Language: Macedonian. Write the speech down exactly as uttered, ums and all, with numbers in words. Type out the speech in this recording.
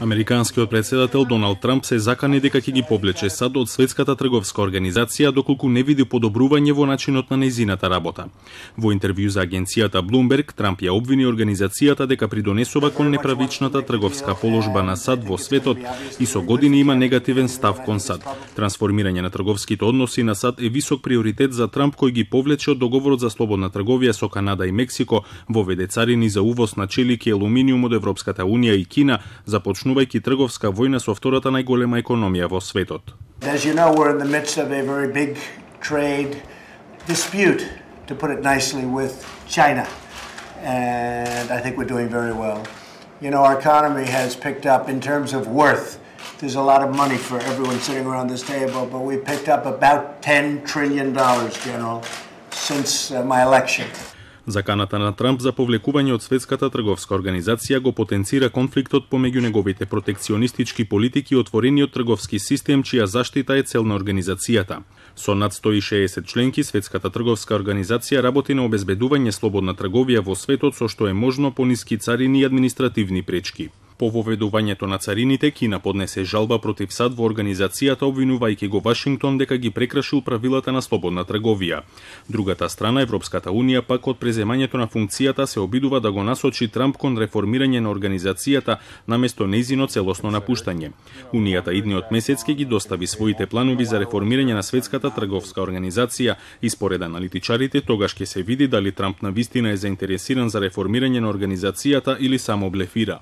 Американскиот претседател Доналд Трамп се закани дека ќе ги повлече САД од Светската трговска организација доколку не види подобрување во начинот на нејзината работа. Во интервју за агенцијата Bloomberg, Трамп ја обвини организацијата дека придонесува кон неправичната трговска положба на САД во светот и со години има негативен став кон САД. Трансформирање на трговските односи на САД е висок приоритет за Трамп, кој ги повлече од договорот за слободна трговија со Канада и Мексико, воведе царини за увоз на челики и алуминиум од Европската унија и Кина, започнувајќи трговска војна со втората најголема економија во светот. As you know, we're in the midst of a very big trade dispute, to put it nicely, with China. And I think we're doing very well. You know, our economy has picked up in terms of worth. There's a lot of money for everyone sitting around this table, but we picked up about ten trillion dollars, General, since uh, my election. Заканата на Трамп за повлекување од Светската трговска организација го потенцира конфликтот помеѓу неговите протекционистички политики и отворениот трговски систем, чија заштита е цел на организацијата. Со над сто и шеесет членки, Светската трговска организација работи на обезбедување слободна трговија во светот, со што е можно пониски царини и административни пречки. По воведувањето на царините, Кина поднесе жалба против САД во организацијата, обвинувајќи го Вашингтон дека ги прекрашил правилата на слободна трговија. Другата страна, Европската унија, пак од преземањето на функцијата се обидува да го насочи Трамп кон реформирање на организацијата наместо нејзино целосно напуштање. Унијата идниот месец ќе ги достави своите планови за реформирање на Светската трговска организација и според аналитичарите тогаш ќе се види дали Трамп навистина е заинтересиран за реформирање на организацијата или само блефира.